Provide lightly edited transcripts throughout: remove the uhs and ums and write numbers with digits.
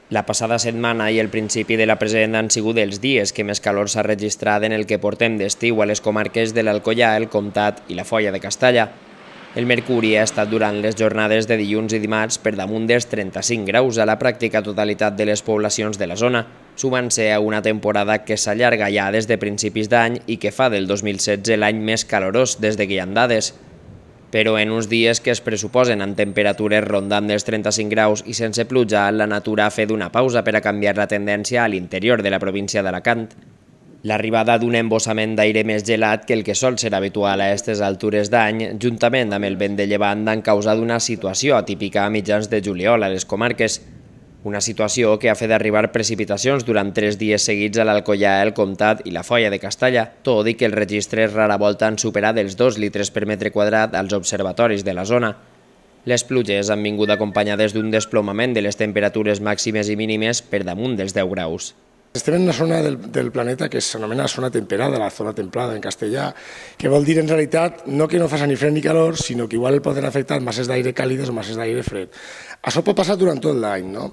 La passada setmana i el principi de la present han sigut els dies que més calor s'ha registrat en el que portem d'estiu a les comarques de l'Alcoià, el Comtat i la Foia de Castalla. El mercuri ha estat durant les jornades de dilluns i dimarts per damunt dels 35 graus a la pràctica totalitat de les poblacions de la zona, sumant-se a una temporada que s'allarga ja des de principis d'any i que fa del 2016 l'any més calorós des de que hi ha dades. Però en uns dies que es pressuposen amb temperatures rondant dels 35 graus i sense pluja, la natura ha fet una pausa per a canviar la tendència a l'interior de la província d'Alacant. L'arribada d'un embossament d'aire més gelat que el que sol ser habitual a aquestes altures d'any, juntament amb el vent de llevant, han causat una situació atípica a mitjans de juliol a les comarques. Una situació que ha fet arribar precipitacions durant 3 dies seguits a l'Alcoià, el Comtat i la Foia de Castalla, tot i que els registres rara volta han superat els 2 litres per metre quadrat als observatoris de la zona. Les pluges han vingut acompanyades d'un desplomament de les temperatures màximes i mínimes per damunt dels 10 graus. Estem en una zona del planeta que s'anomena zona temperada, la zona templada en castellà, que vol dir en realitat no que no faci ni fred ni calor, sinó que igual poden afectar masses d'aire càlides o masses d'aire fred. Això pot passar durant tot l'any, no?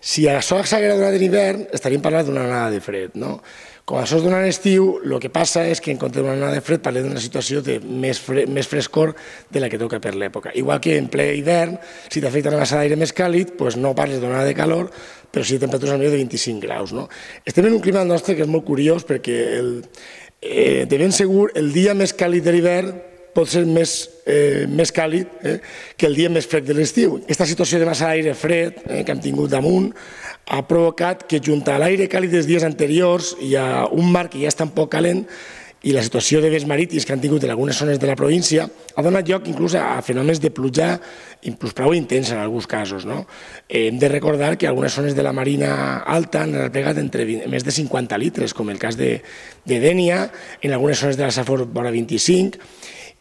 Si això s'haguera donat en hivern, estaríem parlant d'una onada de fred, no? Com això es dona en estiu, el que passa és que en compte d'una onada de fred parlem d'una situació de més frescor de la que toca per l'època. Igual que en ple hivern, si t'afecta una massa d'aire més càlid, doncs no parles d'una onada de calor, però sí de temperatures millor de 25 graus. No? Estem en un clima nostre que és molt curiós perquè de ben segur el dia més càlid de l'hivern pot ser més càlid que el dia més fred de l'estiu. Aquesta situació de massa d'aire fred que hem tingut damunt ha provocat que junt a l'aire càlid dels dies anteriors hi ha un mar que ja està un poc calent i la situació de vents marítims que han tingut en algunes zones de la província ha donat lloc inclús a fenòmens de pluja inclús prou intensa en alguns casos. Hem de recordar que algunes zones de la Marina Alta han replegat entre més de 50 litres, com el cas de Dénia, en algunes zones de la Safor vora 25.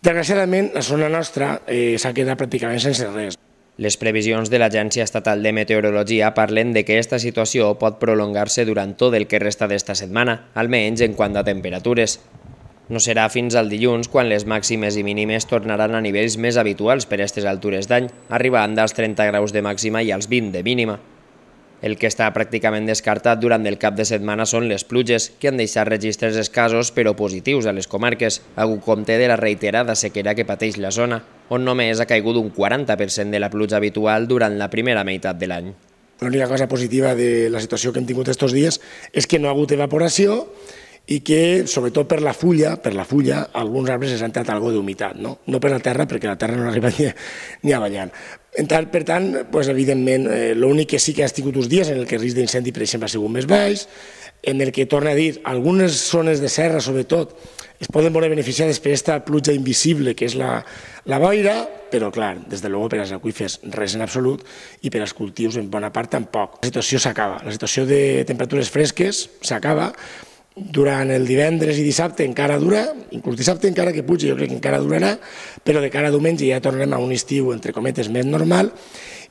Desgraciadament, la zona nostra s'ha quedat pràcticament sense res. Les previsions de l'Agència Estatal de Meteorologia parlen de que aquesta situació pot prolongar-se durant tot el que resta d'esta setmana, almenys en quant a temperatures. No serà fins al dilluns quan les màximes i mínimes tornaran a nivells més habituals per a aquestes altures d'any, arribant als 30 graus de màxima i als 20 de mínima. El que està pràcticament descartat durant el cap de setmana són les pluges, que han deixat registres escassos però positius a les comarques, a compte de la reiterada sequera que pateix la zona, on només ha caigut un 40% de la pluja habitual durant la primera meitat de l'any. L'única cosa positiva de la situació que hem tingut aquests dies és que no ha hagut evaporació i que, sobretot per la fulla, alguns arbres s'han entrat alguna d'humitat, no per la terra, perquè la terra no arriba ni a ballant. Per tant, evidentment, l'únic que sí que ha tingut uns dies en el que el risc d'incendi, per exemple, ha sigut més baix, en el que, torna a dir, algunes zones de serra, sobretot, es poden veure beneficiades per aquesta pluja invisible que és la boira, però, clar, des de luego per als aqüífers res en absolut i per als cultius en bona part tampoc. La situació s'acaba, la situació de temperatures fresques s'acaba. Durant el divendres i dissabte encara dura, inclús dissabte encara que puja jo crec que encara durarà, però de cara a diumenge ja tornarem a un estiu, entre cometes, més normal,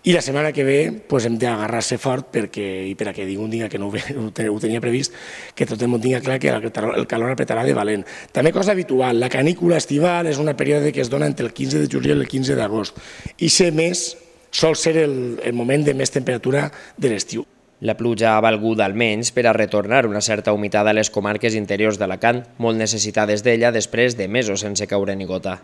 i la setmana que ve hem d'agarrar-se fort i per a que ningú diga que no ho tenia previst, que tothom tinga clar que el calor apretarà de valent. També cosa habitual, la canícula estival és un període que es dona entre el 15 de juliol i el 15 d'agost, i ser més sol ser el moment de més temperatura de l'estiu. La pluja ha valgut almenys per a retornar una certa humitat a les comarques interiors d'Alacant, molt necessitades d'ella després de mesos sense caure ni gota.